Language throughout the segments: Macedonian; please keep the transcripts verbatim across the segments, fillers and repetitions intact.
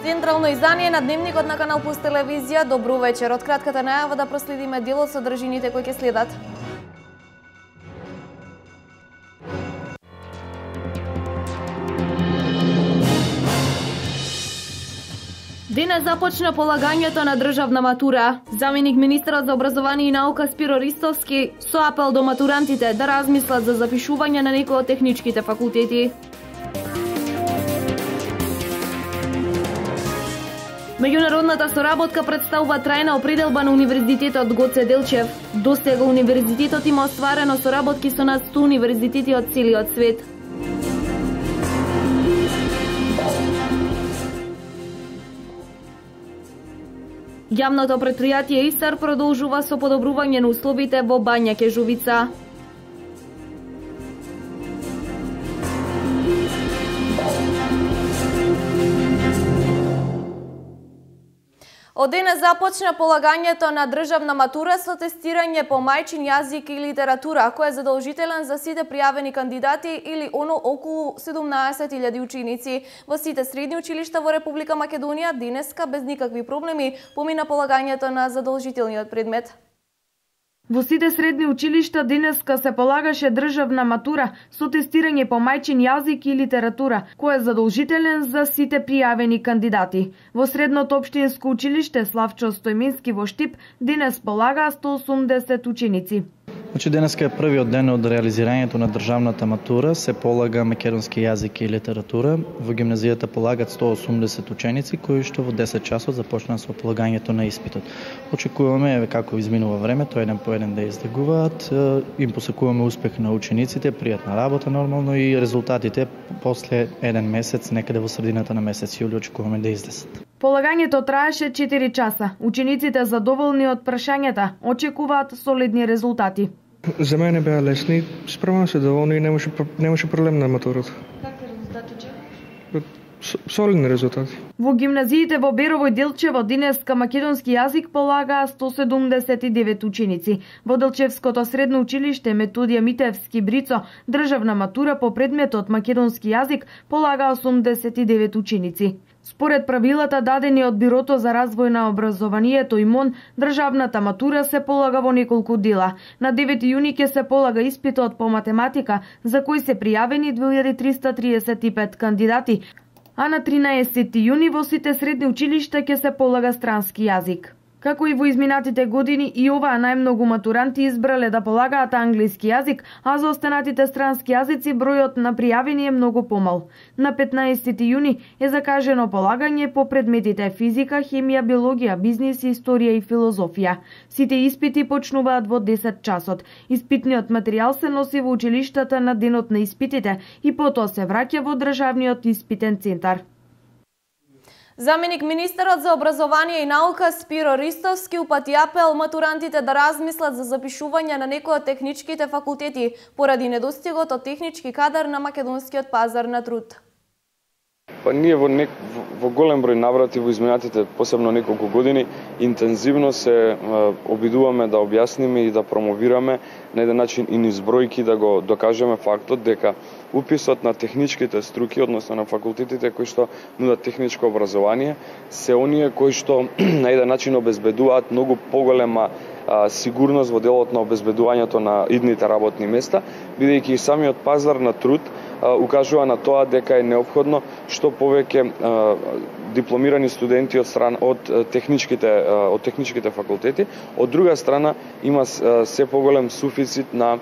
Централно издание на Дневникот на Канал Плюс телевизија. Добро вечер. Од кратката најава да проследиме дел од содржините кои ќе следат. Денес започна полагањето на државна матура. Заменик министерот за образование и наука Спиро Ристовски со апел до матурантите да размислат за запишување на некои од техничките факултети. Меѓународната соработка представува трајна определба на Универзитетот Гоце Делчев. Досега универзитетот има остварено соработки со над сто универзитети од целиот свет. Јавното претпријатие Истар продолжува со подобрување на условите во Бања Кежувица. Од денес започна полагањето на државна матура со тестирање по мајчин јазик и литература, кој е задолжителен за сите пријавени кандидати или оно околу седумнаесет илјади ученици. Во сите средни училишта во Република Македонија денеска без никакви проблеми помина полагањето на задолжителниот предмет. Во сите средни училишта денеска се полагаше државна матура со тестирање по мајчин јазик и литература, кој е задолжителен за сите пријавени кандидати. Во средното општинско училиште Славчо Стојмински во Штип денес полагаа сто осумдесет ученици. Значи денеска е првиот ден од реализирањето на државната матура, се полага македонски јазик и литература. Во гимназијата полагат сто осумдесет ученици кои што во десет часот започнаа со полагањето на испитот. Очекуваме како изминува времето еден по еден да издегуваат, им посакуваме успех на учениците, пријатна работа нормално и резултатите после еден месец, некаде во средината на месец јули очекуваме да излезат. Полагањето траеше четири часа. Учениците задоволни од прашањата очекуваат солидни резултати. За мене беа лесни, справам се доволни и немаше немаше проблем на матурата. Какви резултати очекуваш? Солидни резултати. Во гимназиите во Берово и Делчево денеска македонски јазик полагаа сто седумдесет и девет ученици. Во Делчевското средно училиште Методија Митевски Брицо државна матура по предметот македонски јазик полагаа осумдесет и девет ученици. Според правилата дадени од Бирото за развој на образованието и МОН, државната матура се полага во неколку дела. На девети јуни ќе се полага испитот по математика, за кој се пријавени две илјади триста триесет и пет кандидати, а на тринаесети јуни во сите средни училишта ќе се полага странски јазик. Како и во изминатите години, и оваа најмногу матуранти избрале да полагаат англиски јазик, а за останатите странски јазици бројот на пријавени е многу помал. На петнаесети јуни е закажено полагање по предметите физика, хемија, биологија, бизнис, историја и филозофија. Сите испити почнуваат во десет часот. Испитниот материјал се носи во училиштата на денот на испитите и потоа се враќа во државниот испитен центар. Заменик министерот за образование и наука Спиро Ристовски упати апел матурантите да размислат за запишување на некои од техничките факултети поради недостигот од технички кадар на македонскиот пазар на труд. Па ние во, нек, во голем број наврати во изминатите посебно неколку години интензивно се е, обидуваме да објасниме и да промовираме на еден начин и низ бројки да го докажеме фактот дека уписот на техничките струки, односно на факултетите кои што нудат техничко образование, се оние кои што на еден начин обезбедуваат многу поголема а, сигурност во делот на обезбедувањето на идните работни места, бидејќи и самиот пазар на труд а, укажува на тоа дека е неопходно што повеќе а, дипломирани студенти од страна од техничките од техничките факултети, од друга страна има се поголем суфицит на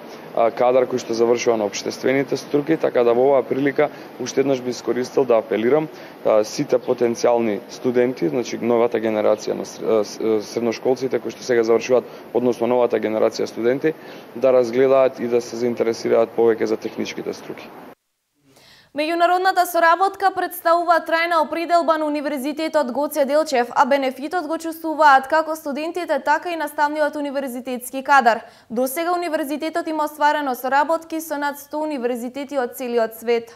кадар кој што завршува на општествените струки, така да во оваа прилика уште еднаш би искористил да апелирам сите потенцијални студенти, значи новата генерација на средношколците кои што сега завршуваат, односно новата генерација студенти, да разгледаат и да се заинтересираат повеќе за техничките струки. Меѓународната соработка представува трајна определба на Универзитетот Гоце Делчев, а бенефитот го чувствуваат како студентите, така и наставниот универзитетски кадар. Досега универзитетот има остварено соработки со над сто универзитети од целиот свет.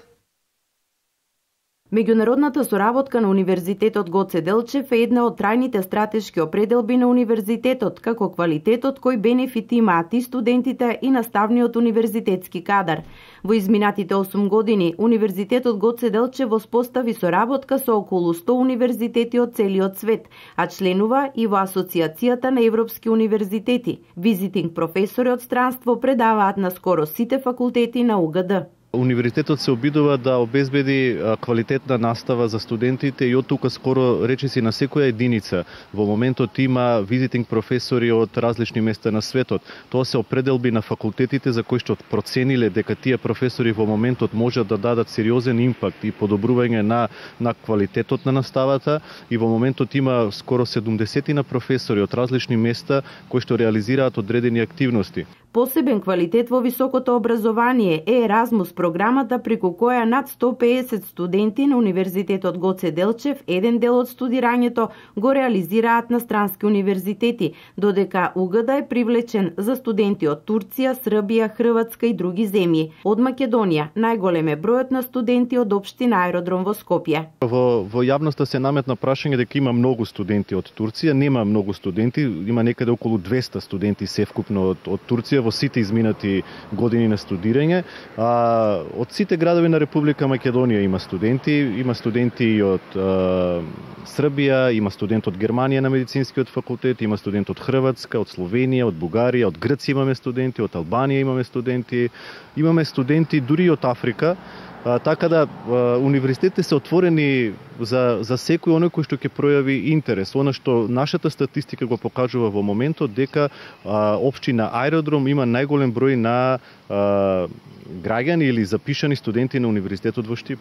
Меѓународната соработка на Универзитетот Гоце Делчев е една од трајните стратешки определби на универзитетот, како квалитетот кој бенефити имаат и студентите и наставниот универзитетски кадар. Во изминатите осум години, Универзитетот Гоце Делчев воспостави соработка со околу сто универзитети од целиот свет, а членува и во Асоциацијата на европски универзитети. Визитинг професори од странство предаваат на скоро сите факултети на У Г Д. Универзитетот се обидува да обезбеди квалитетна настава за студентите и од тука скоро речиси на секоја единица. Во моментот има визитинг професори од различни места на светот. Тоа се определби на факултетите за кои што процениле дека тие професори во моментот можат да дадат сериозен импакт и подобрување на на квалитетот на наставата, и во моментот има скоро седумдесет на професори од различни места кои што реализираат одредени активности. Посебен квалитет во високото образование е Еразмус програмата, преку која над сто педесет студенти на Универзитетот Гоце Делчев еден дел од студирањето го реализираат на странски универзитети, додека У Г Д е привлечен за студенти од Турција, Србија, Хрватска и други земји. Од Македонија најголем е бројот на студенти од општина Аеродром во Скопје. Во, во јавноста се наметна прашање дека има многу студенти од Турција. Нема многу студенти, има некаде околу двесте студенти севкупно од, од Турција во сите изминати години на студирање. А, од сите градови на Република Македонија има студенти, има студенти и од а, Србија, има студент од Германија на медицинскиот факултет, има студент од Хрватска, од Словенија, од Бугарија, од Грција имаме студенти, од Албанија имаме студенти, имаме студенти дури од Африка. А, така да а, универзитетите се отворени за, за секој оној кој што ќе пројави интерес. Она што нашата статистика го покажува во моментот, дека а, општина Аеродром има најголем број на а, граѓани или запишани студенти на Универзитетот во Штип.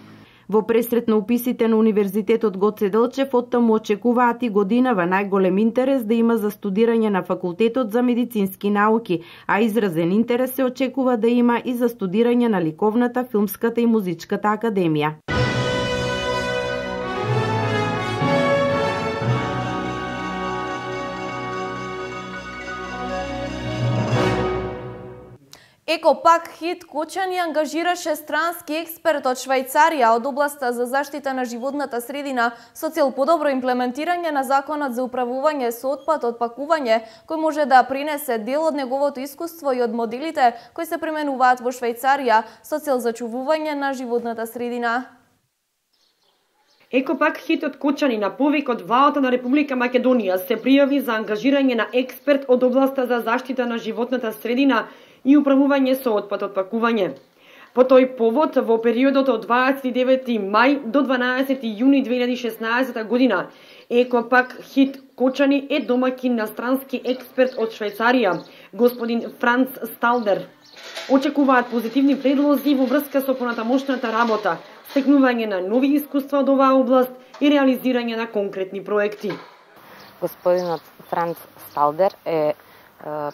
Во пресрет на уписите на Универзитетот Гоце Делчев оттаму очекуваат и годинава најголем интерес да има за студирање на факултетот за медицински науки, а изразен интерес се очекува да има и за студирање на ликовната, филмската и музичката академија. Екопак Хит Кочани ангажираше странски експерт од Швајцарија од областа за заштита на животната средина со цел подобро имплементирање на законот за управување со отпад од пакување, кој може да принесе дел од неговото искуство и од моделите кои се применуваат во Швајцарија со цел зачувување на животната средина. Екопак Хит од Кочани на повик од владата на Република Македонија се пријави за ангажирање на експерт од областа за заштита на животната средина и управување со отпад од пакување. По тој повод, во периодот од дваесет и девети мај до дванаесети јуни две илјади и шеснаесета година, Екопак Хит Кочани е домаќин на странски експерт од Швајцарија, господин Франц Сталдер. Очекуваат позитивни предлози во врска со понатамошната работа, стекнување на нови искуства од оваа област и реализирање на конкретни проекти. Господинот Франц Сталдер е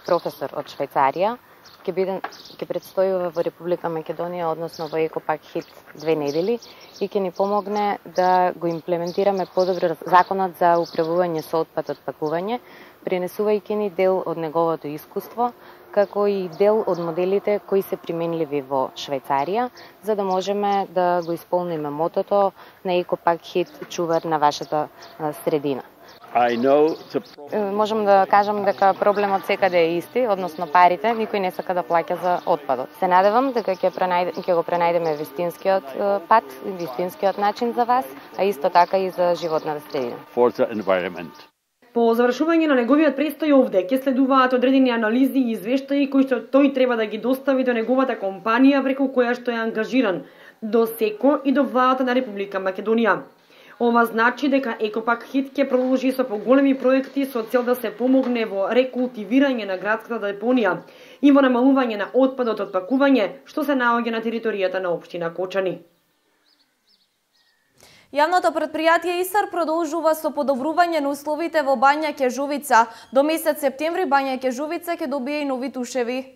професор од Швајцарија, ќе биде ќе предстојува во Република Македонија, односно во Екопак Хит две недели, и ќе ни помогне да го имплементираме подобро законот за управување со отпад од пакување, пренесувајќи ни дел од неговото искуство, како и дел од моделите кои се применливи во Швајцарија, за да можеме да го исполниме мотото на Екопак Хит чувар на вашата средина. The... Можам да кажам дека проблемот секаде е исти, односно парите, никој не сака да плаќа за отпадот. Се надевам дека ќе пренајде, ќе го пренајдеме вистинскиот пат, вистинскиот начин за вас, а исто така и за животната средина. По завршување на неговиот престој овде ќе следуваат одредени анализи и извештаи кои што тој треба да ги достави до неговата компанија преку која што е ангажиран, до СЕКО и до владата на Република Македонија. Ова значи дека Екопак Хит ќе продолжи со поголеми проекти со цел да се помогне во рекултивирање на градската депонија и во намалување на отпадот од пакување што се наоѓа на територијата на општина Кочани. Јавното претпријатие ИСАР продолжува со подобрување на условите во Бања Кежувица. До месец септември Бања Кежувица ќе добие и нови тушеви.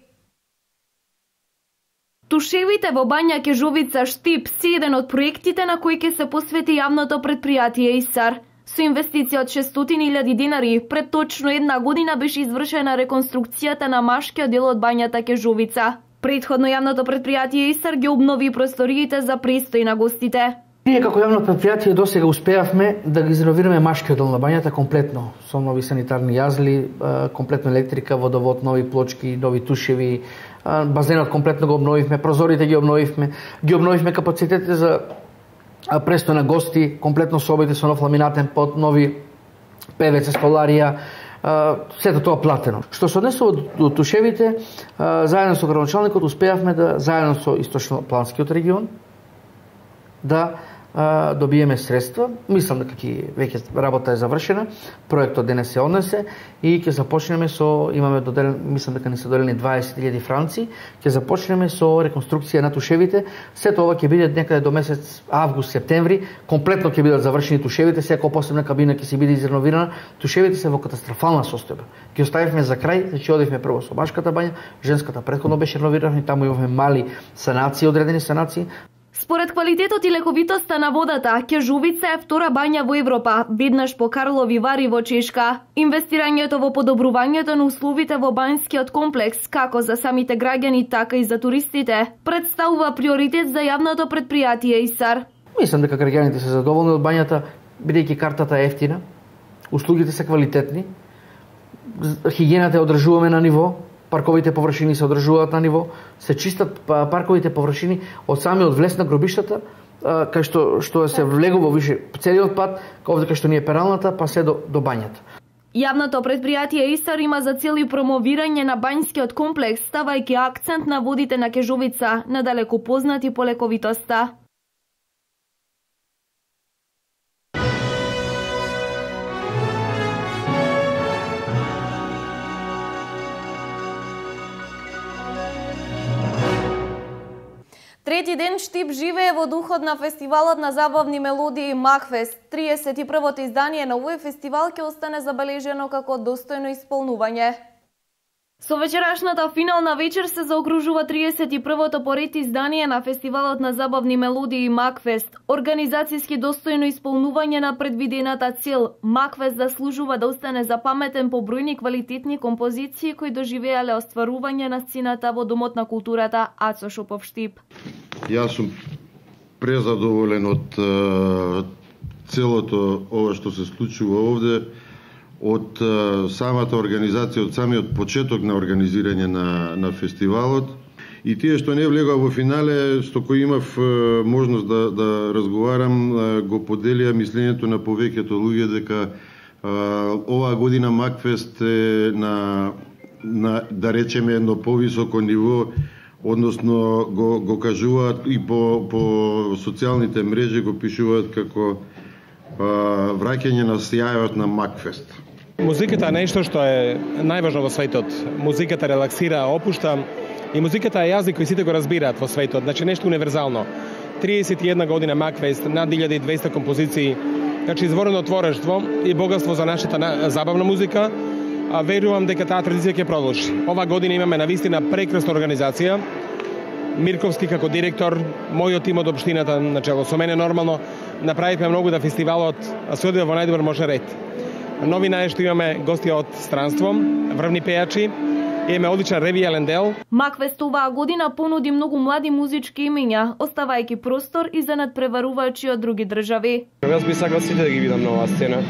Тушевите во Бања Кежувица Штип се еден од проектите на кои ќе се посвети јавното претпријатие ИСАР. Со инвестиција од шестстотини илјади динари, пред точно една година беше извршена реконструкцијата на машкиот дел од Бањата Кежувица. Претходно јавното претпријатие ИСАР ги обнови просториите за престој на гостите. Ние како јавно предпријатие досега успеавме да ги изреновираме машкиот дел на бањата комплетно, со нови санитарни јазли, комплетно електрика, водовод, нови плочки, нови тушеви, базенот комплетно го обновивме, прозорите ги обновивме, ги обновивме капацитетите за престој на гости, комплетно собите со нов ламинатен под, нови певец, столарија, сето тоа платено. Што се однесува до тушевите, заедно со градоначалникот успеавме да заедно со источнопланскиот регион да а, добиеме средства. Мислам дека ќе веќе работа е завршена, проектот денес се однесе и ќе започнеме со, имаме доделен, мислам дека ни се доделени дваесет илјади франци, ќе започнеме со реконструкција на тушевите. Сето ова ќе биде некаде до месец август, септември, комплетно ќе бидат завршени тушевите, секоја посебна кабина ќе се биде изреновирана. Тушевите се во катастрофална состојба. Ги оставивме за крај, значи одивме прво со башката бања, женската претходно беше реновирана и таму имавме мали санации, одредени санации. Според квалитетот и лековитоста на водата, Кежувица е втора бања во Европа, веднаш по Карлови Вари во Чешка. Инвестирањето во подобрувањето на условите во бањскиот комплекс, како за самите граѓани, така и за туристите, представува приоритет за јавното предпријатие ИСАР. Мислам дека граѓаните се задоволни од бањата, бидејќи картата е ефтина, услугите се квалитетни, хигиената ја одржуваме на ниво, парковите површини се одржуваат на ниво, се чистат парковите површини од самиот влез на гробиштата, кај што што се влегува више целиот пат, овде кај што ни е пералната, па се до, до бањата. Јавното предпријатие ИСАР има за цел и промовирање на бањскиот комплекс, ставајќи акцент на водите на Кежувица, надалеку познати по лековитоста. Трети ден Штип живее во духот на фестивалот на забавни мелодии Макфест. триесет и првото издание на овој фестивал ќе остане забележено како достојно исполнување. Со вечерашната финална вечер се заокружува триесет и првото поред издание на фестивалот на забавни мелодии Макфест. Организацијски достојно исполнување на предвидената цел. Макфест заслужува да остане запаметен по бројни квалитетни композиции кои доживеале остварување на сцената во Домот на културата Ацо Шопов Штип. Јас сум презадоволен од uh, целото ова што се случува овде, од uh, самата организација, од самиот почеток на организирање на, на фестивалот. И тие што не влегува во финале, што кој имав uh, можност да, да разговарам, uh, го поделија мислењето на повеќето луѓе дека uh, оваа година Макфест е на, на, да речеме, едно повисоко ниво, односно го, го кажуваат и по, по социјалните мрежи го пишуваат како а, враќање на сјајот на Макфест. Музиката е нешто што е најважно во светот. Музиката релаксира, опушта и музиката е јазик кој сите го разбираат во светот, значи нешто универзално. триесет и една година Макфест, над илјада и двесте композиции, значи изворено творештво и богатство за нашата забавна музика. А верувам дека таа традиција ќе продолжи. Ова година имаме навистина прекрасна организација. Мирковски како директор, мојот тим од општината начело со мене нормално направивме многу да фестивалот се одвива во најдобар можен ред. Новина е што имаме гости од странство, врвни пејачи, имаме одличен ревијален дел. Макфест оваа година понуди многу млади музички имиња, оставајќи простор и за надпреварувачи од други држави. Јас би сакал сите да ги видам на оваа сцена,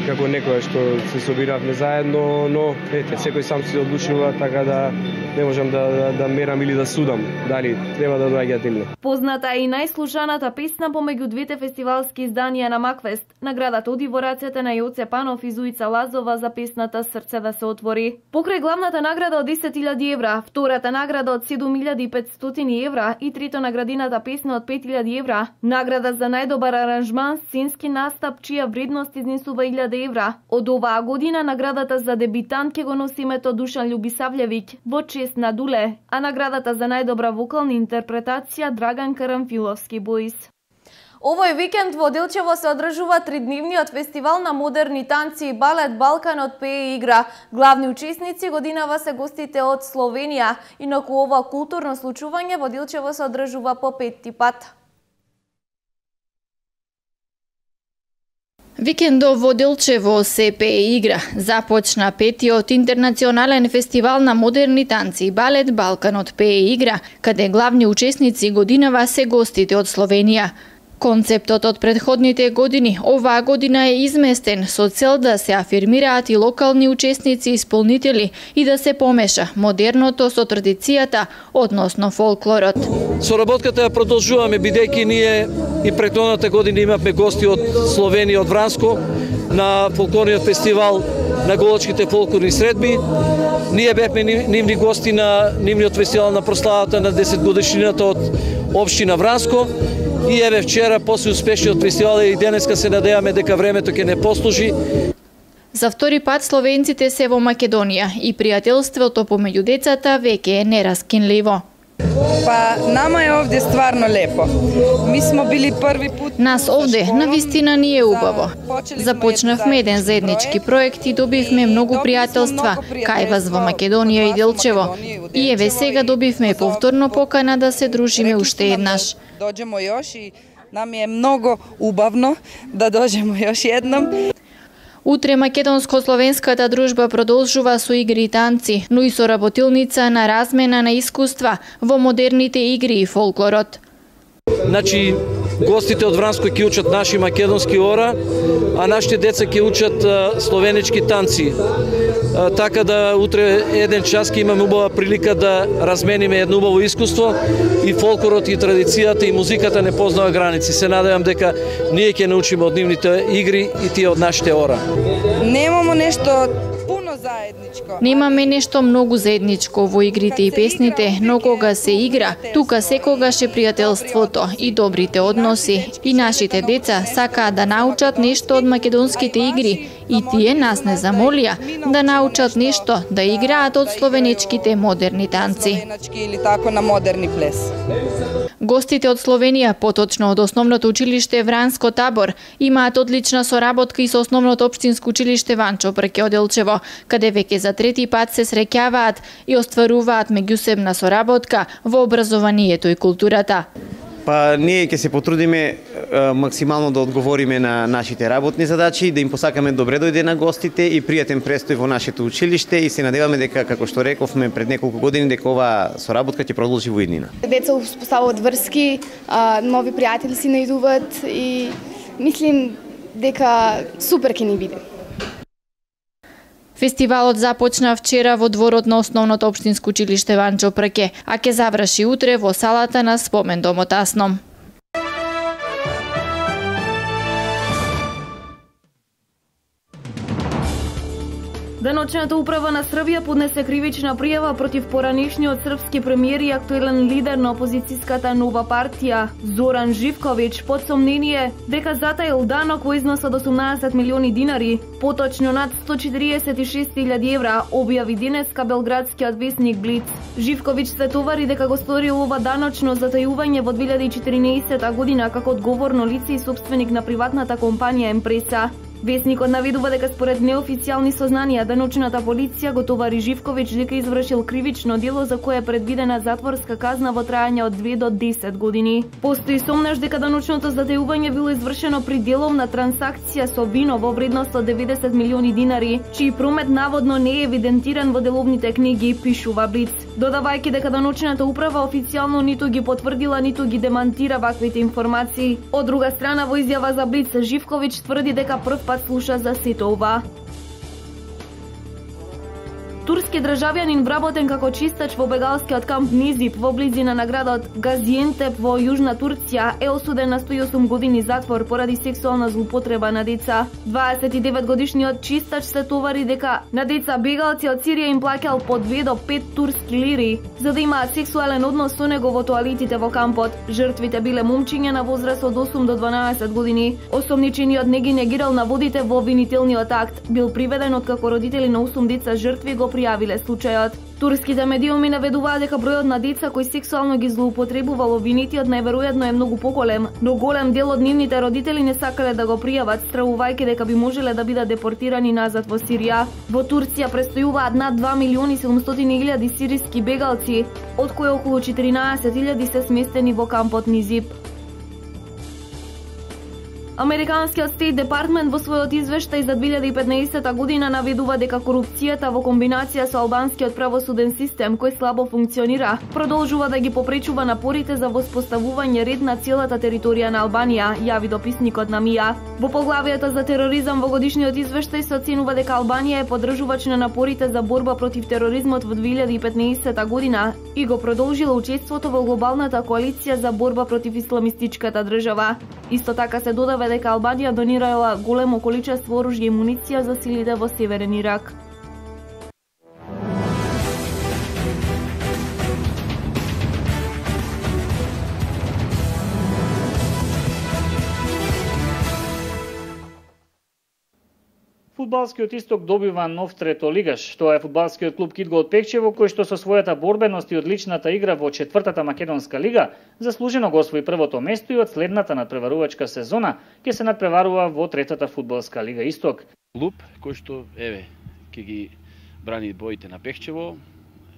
како некоја што се собиравме заедно, но ете, секој сам се одлучува, така да не можам да, да, да мерам или да судам дали треба да доаѓаат или не. Позната е и најслушаната песна помеѓу двете фестивалски изданија на Макфест. Наградата оди во рацете на Јоце Панов и Зуица Лазова за песната Срце да се отвори. Покрај главната награда од десет илјади евра, втората награда од седум илјади и петстотини евра и трето наградината песна од пет илјади евра, награда за најдобар аранжман, сценски настап чија вредност изнесува илјада евра. Од оваа година наградата за дебитант ќе го носи името Душан Љубисављевиќ во чест на Дуле, а наградата за најдобра вокална интерпретација Драган Карамфиловски Боис. Овој викенд во Делчево се одржува тридневниот фестивал на модерни танци и балет Балканот пее и игра. Главни учесници годинава се гостите од Словенија. Инаку ова културно случување во Делчево се одржува по петти пат. Викендов во Делчево се пее и игра. Започна петиот интернационален фестивал на модерни танци и балет Балканот пее и игра, каде главни учесници годинава се гостите од Словенија. Концептот од претходните години оваа година е изместен со цел да се афирмираат и локални учесници и исполнители и да се помеша модерното со традицијата, односно фолклорот. Соработката ја продолжуваме бидејќи ние и претходната година имавме гости од Словенија, од Вранско на фолклорниот фестивал на Голачките фолклорни средби. Ние бевме нивни гости на нивниот фестивал на прославата на десет годишнината од општина Вранско. И еве вчера, после успешниот фестивал, и денеска се надеваме дека времето ќе не послужи. За втори пат словенците се во Македонија и пријателството помеѓу децата веќе е нераскинливо. Па, нама е овде стварно лепо. Ми смо били први пут... Нас овде, навистина ни е убаво. Започнавме еден заеднички проект и добивме многу пријателства кај вас во Македонија и Делчево. И еве сега добивме повторно покана да се дружиме уште еднаш. Доđemo još i nam je mnogo убавно да доđemo još jednom. Утре македонско-словенската дружба продолжува со игри и танци, но и со работилница на размена на искуства во модерните игри и фолклорот. Значи, гостите од Вранско ќе учат наши македонски ора, а нашите деца ќе учат словенички танци. Така да утре еден час ќе имаме убава прилика да размениме едно убаво искуство и фолклорот и традицијата и музиката не познава граници. Се надевам дека ние ќе научиме од нивните игри и тие од нашите ора. Немамо нешто пуно заедничко. Немаме нешто многу заедничко во игрите и песните, но кога се игра, тука секогаш е пријателството и добрите односи. И нашите деца сакаат да научат нешто од македонските игри и тие нас не замолија да научат нешто да играат од словеничките модерни танци. Или тако на модерни плес. Гостите од Словенија, поточно од основното училиште Вранско Табор, имаат одлична соработка и со основното општинско училиште Ванчо Прке од Делчево, каде веќе за трети пат се среќаваат и остваруваат меѓусебна соработка во образованието и културата. Па ние ќе се потрудиме е, максимално да одговориме на нашите работни задачи, да им посакаме добре дојде на гостите и пријатен престој во нашето училиште и се надеваме дека, како што рековме пред неколку години, дека оваа соработка ќе продолжи во иднина. Деца успоставуваат врски, нови пријатели си најдуваат и мислим дека супер ќе ни биде. Фестивалот започна вчера во дворот на основното општинско училиште Ванчо Прке, а ќе заврши утре во салата на Спомендомот Асном. Деночната управа на Србија поднесе кривична пријава против поранешниот српски премиер и актуелен лидер на опозицијската Нова партија Зоран Живковиќ под сомнение дека затаил данок во износ од осумнаесет милиони динари, поточно над сто четиридесет и шест илјади евра, објави денеска белградскиот весник Блиц. Живковиќ се товари дека го сторил ова даночно затајување во две илјади и четиринаесетта година како одговорно лице и сопственик на приватната компанија Емпреса. Весникот наведува дека според неофицијални сознанија деночната полиција го товари Живковиќ дека извршил кривично дело за кое е предвидена затворска казна во трајање од две до десет години. Постои сомнеш дека деночното затајување било извршено при деловна трансакција со вино во вредност од деветдесет милиони динари, чиј промет наводно не е евидентиран во деловните книги, пишува Блиц. Додавајќи дека деночната управа официјално ниту ги потврдила, ниту ги демантира ваквите информации. Од друга страна, во изјава за Блиц, Живковиќ тврди дека прв пат слуша за сето ова. Турски државјанин вработен како чистач во бегалскиот камп Низип во близина на градот Газиентеп во Јужна Турција е осуден на сто и осум години затвор поради сексуална злоупотреба на деца. дваесет и девет годишниот чистач се товари дека на деца бегалци од Сирија им плаќал по две до пет турски лири за да имаат сексуален однос со него во тоалетите во кампот. Жртвите биле момчиња на возраст од осум до дванаесет години. Осомничениот не ги негирал наводите во обвинителниот акт. Бил приведен откако родители на осум деца жртви го пријавиле случајот. Турските медиуми наведуваат дека бројот на деца кои сексуално ги злоупотребувал обвинетиот најверојатно е многу поголем, но голем дел од нивните родители не сакале да го пријават, стравувајќи дека би можеле да бидат депортирани назад во Сирија. Во Турција престојуваат над два милиони седумстотини илјади сириски бегалци, од кои околу четиринаесет илјади се сместени во кампот Низип. Американскиот Стейт Департмент во својот извештај за две илјади и петнаесетта година наведува дека корупцијата во комбинација со албанскиот правосуден систем кој слабо функционира, продолжува да ги попречува напорите за воспоставување ред на целата територија на Албанија, јави дописникот на МИА. Во поглавието за тероризам во годишниот извештај се оценува дека Албанија е поддржувач на напорите за борба против тероризмот во две илјади и петнаесетта година и го продолжила учеството во глобалната коалиција за борба против исламистичката држава. Исто така се додава дека Албанија донирала големо количество оружје и муниција за силите во Северен Ирак. Фудбалскиот Исток добива нов третолигаш. Тоа е фудбалскиот клуб Кидго од Пекчево, кој што со својата борбеност и одличната игра во четвртата македонска лига заслужено го освои првото место и од следната надпреварувачка сезона ќе се надпреварува во третата фудбалска лига Исток. Клуб кој што еве ќе ги брани боите на Пекчево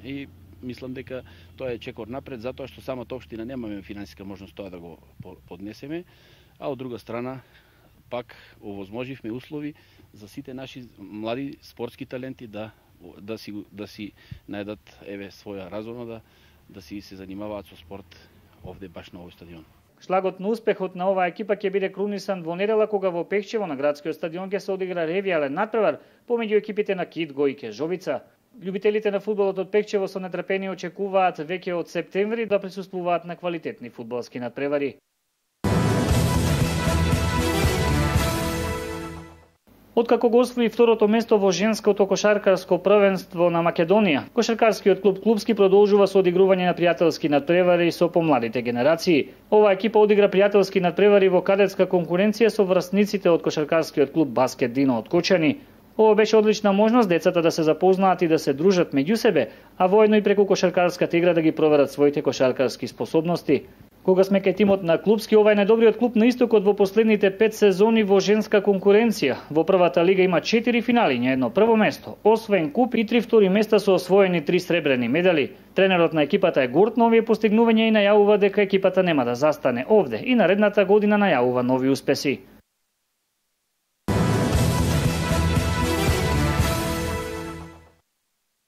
и мислам дека тоа е чекор напред затоа што самата општина немаме финансиска можност тоа да го поднесеме, а од друга страна пак овозможивме услови за сите наши млади спортски таленти да да си да си најдат еве своја разумна да да си се занимаваат со спорт овде баш на овој стадион. Шлагот на успехот на оваа екипа ќе биде крунисан во недела кога во Пекчево на градскиот стадион ќе се одигра ревијален натпревар помеѓу екипите на Кидго и Кежовица. Љубителите на фудбалот од Пекчево со нетрпение очекуваат веќе од септември да присуствуваат на квалитетни фудбалски натпревари. Откако го освои второто место во женското кошаркарско првенство на Македонија, кошаркарскиот клуб Клубски продолжува со одигрување на пријателски надпревари со помладите генерации. Оваа екипа одигра пријателски надпревари во кадетска конкуренција со врсниците од кошаркарскиот клуб Баскет Дино од Кочани. Ова беше одлична можност децата да се запознаат и да се дружат меѓу себе, а воедно и преку кошаркарската игра да ги проверат своите кошаркарски способности. Кога сме кај тимот на Клубски, ова е најдобриот клуб на Истокот во последните пет сезони во женска конкуренција. Во првата лига има четири финали, едно прво место, освен куп и три втори места со освоени три сребрени медали. Тренерот на екипата е горд на овие постигнувања и најавува дека екипата нема да застане овде и наредната година најавува нови успеси.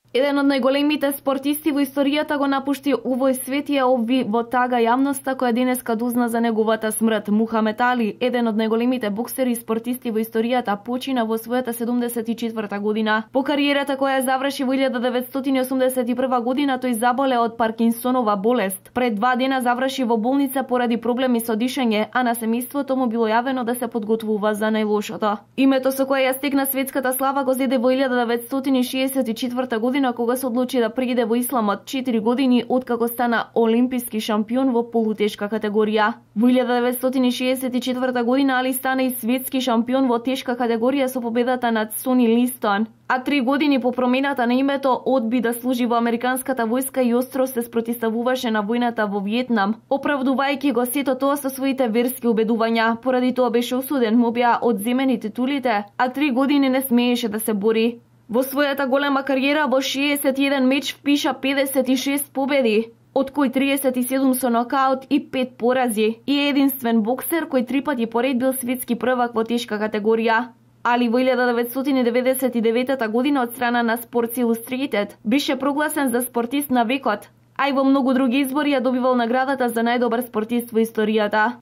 Еден од најголемите спортисти во историјата го напушти овој свет и ја обви во тага јавноста која денеска дозна за неговата смрт. Мухамед Али, еден од најголемите боксери и спортисти во историјата, почина во својата седумдесет и четврта година. По кариерата која ја заврши во илјада деветстотини и осумдесет и прва година, тој заболе од Паркинсонова болест. Пред два дена заврши во болница поради проблеми со дишење, а на семејството му било јавено да се подготвува за најлошото. Името со кое ја стекна светската слава го зеде во илјада деветстотини шеесет и четврта година кога се одлучи да пријде во исламот четири години откако стана олимписки шампион во полутешка категорија. Во илјада деветстотини шеесет и четврта година Али стана и светски шампион во тешка категорија со победата над Сони Листон, а три години по промената на името одби да служи во американската војска и остро се спротивставуваше на војната во Виетнам, оправдувајќи го сето тоа со своите верски убедувања. Поради тоа беше осуден, му беа одземени титулите, а три години не смееше да се бори. Во својата голема кариера во шеесет и еден меч впиша педесет и шест победи, од кои триесет и седум со нокаут и пет порази, и е единствен боксер кој три пати поред бил светски првак во тешка категорија. Али во илјада деветстотини деветдесет и девета година од страна на Sports Illustrated беше прогласен за спортист на векот, а и во многу други избори ја добивал наградата за најдобар спортист во историјата.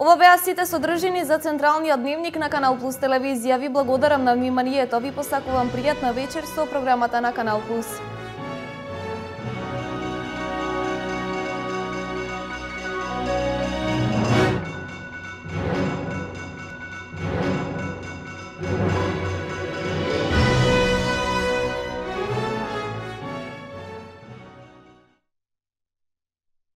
Ова беа сите содржини за Централниот дневник на Канал Плюс телевизија. Ви благодарам на вниманието. Ви посакувам пријатна вечер со програмата на Канал Плюс.